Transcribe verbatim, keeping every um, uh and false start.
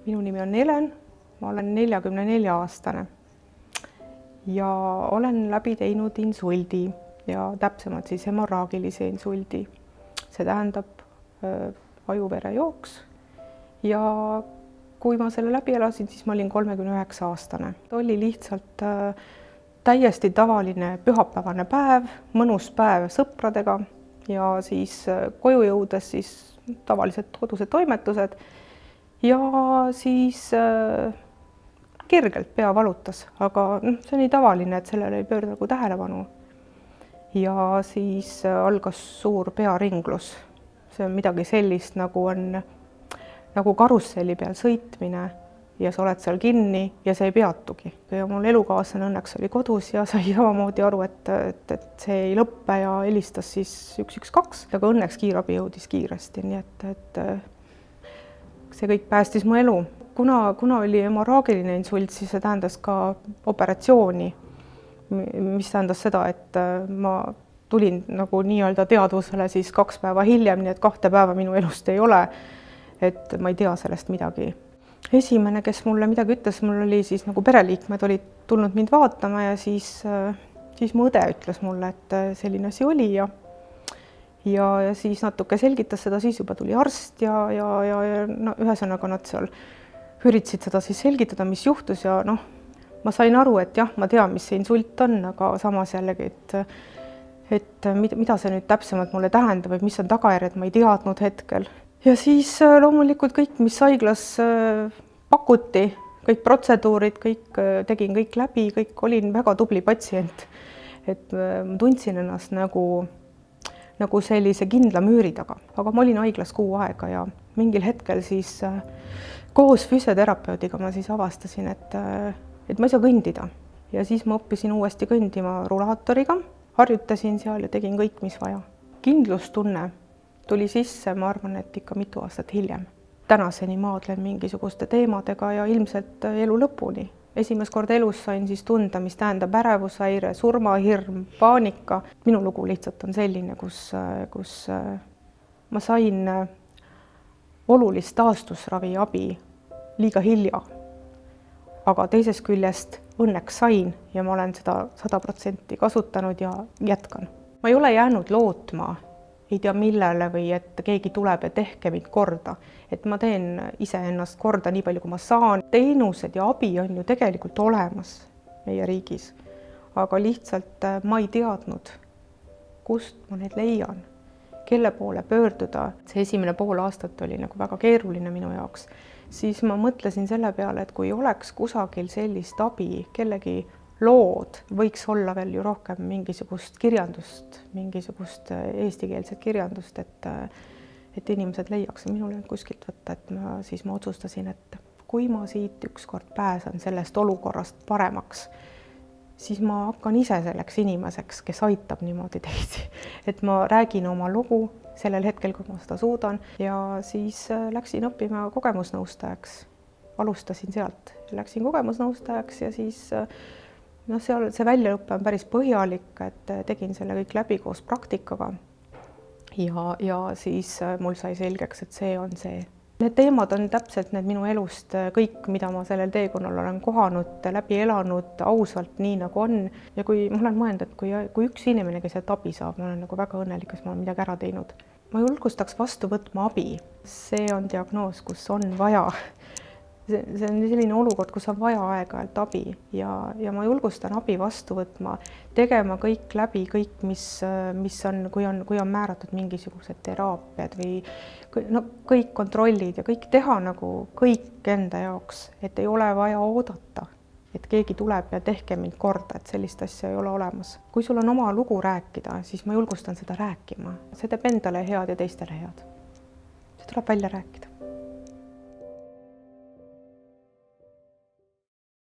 Minu nimi on Helen, ma olen neljakümne nelja aastane ja olen läbi teinud insuldi ja täpsemalt siis hemorraagilise insuldi. See tähendab äh, ajuverejooks ja kui ma selle läbi elasin, siis ma olin kolmekümne üheksa aastane. Oli lihtsalt äh, täiesti tavaline pühapäevane päev, mõnus päev sõpradega ja siis äh, koju jõudes siis tavalised kodused toimetused ja siis äh, kergelt pea valutas, aga noh, see on nii tavaline, et sellele ei pöörda nagu tähelepanu. Ja siis äh, algas suur pearinglus. See on midagi sellist, nagu on nagu karusselli peal sõitmine ja sa oled seal kinni ja see ei peatugi. Ja mul elukaaslane õnneks oli kodus ja sai samamoodi aru, et, et, et see ei lõppe ja helistas siis üks üks kaks, aga õnneks kiirabi jõudis kiiresti, nii et, et see kõik päästis mu elu. Kuna, kuna oli hemorraagiline insult, siis see tähendas ka operatsiooni, mis tähendas seda, et ma tulin nagu nii-öelda teadvusele siis kaks päeva hiljem, nii et kahte päeva minu elust ei ole, et ma ei tea sellest midagi. Esimene, kes mulle midagi ütles, mul oli siis nagu pereliikmed olid tulnud mind vaatama ja siis, siis mu õde ütles mulle, et selline asi oli ja ja, ja siis natuke selgitas seda, siis juba tuli arst ja, ja, ja, ja no, ühesõnaga nad seal üritasid seda siis selgitada, mis juhtus ja noh, ma sain aru, et jah, ma tean, mis see insult on, aga samas jällegi, et et mida see nüüd täpsemalt mulle tähendab, et mis on tagajärjed, ma ei teadnud hetkel. Ja siis loomulikult kõik, mis haiglas pakuti, kõik protseduurid, kõik tegin kõik läbi, kõik olin väga tubli patsient. Et ma tundsin ennast nagu, nagu sellise kindla müüri taga, aga ma olin haiglas kuu aega ja mingil hetkel siis koos füsioterapeudiga ma siis avastasin, et, et ma ei saa kõndida. Ja siis ma õppisin uuesti kõndima rulaatoriga, harjutasin seal ja tegin kõik, mis vaja. Kindlustunne tuli sisse, ma arvan, et ikka mitu aastat hiljem. Tänaseni maadlen mingisuguste teemadega ja ilmselt elu lõpuni. Esimest korda elus sain siis tunda, mis tähendab ärevushäire, surmahirm, paanika. Minu lugu lihtsalt on selline, kus, kus ma sain olulist taastusravi abi liiga hilja. Aga teisest küljest õnneks sain ja ma olen seda sada protsenti kasutanud ja jätkan. Ma ei ole jäänud lootma, ei tea millele või et keegi tuleb ja tehke mind korda. Et ma teen iseennast korda nii palju, kui ma saan. Teenused ja abi on ju tegelikult olemas meie riigis, aga lihtsalt ma ei teadnud, kust ma need leian, kelle poole pöörduda. See esimene pool aastat oli nagu väga keeruline minu jaoks. Siis ma mõtlesin selle peale, et kui oleks kusagil sellist abi, kellegi lood, võiks olla veel ju rohkem mingisugust kirjandust, mingisugust eestikeelset kirjandust, et, et inimesed leiaks. Minul ei olnud kuskilt võtta, et ma, siis ma otsustasin, et kui ma siit ükskord pääsen sellest olukorrast paremaks, siis ma hakkan ise selleks inimeseks, kes aitab niimoodi teisi. Et ma räägin oma lugu sellel hetkel, kui ma seda suudan ja siis läksin õppima kogemusnõustajaks. Alustasin sealt, läksin kogemusnõustajaks ja siis no, seal see väljaõppe on päris põhjalik, et tegin selle kõik läbi koos praktikaga ja, ja siis mul sai selgeks, et see on see. Need teemad on täpselt need minu elust kõik, mida ma sellel teekonnal olen kohanud, läbi elanud ausalt nii nagu on. Ja kui ma olen mõelnud, et kui, kui üks inimene, kes sealt abi saab, ma olen nagu väga õnnelik, et ma olen midagi ära teinud. Ma julgustaks vastu võtma abi. See on diagnoos, kus on vaja. See, see on selline olukord, kus on vaja aega-ajalt abi ja, ja ma julgustan abi vastu võtma, tegema kõik läbi, kõik, mis, mis on, kui on, kui on määratud mingisugused teraapiad või no, kõik kontrollid ja kõik teha nagu kõik enda jaoks, et ei ole vaja oodata, et keegi tuleb ja tehke mind korda, et sellist asja ei ole olemas. Kui sul on oma lugu rääkida, siis ma julgustan seda rääkima. See teeb endale head ja teistele head. See tuleb välja rääkida.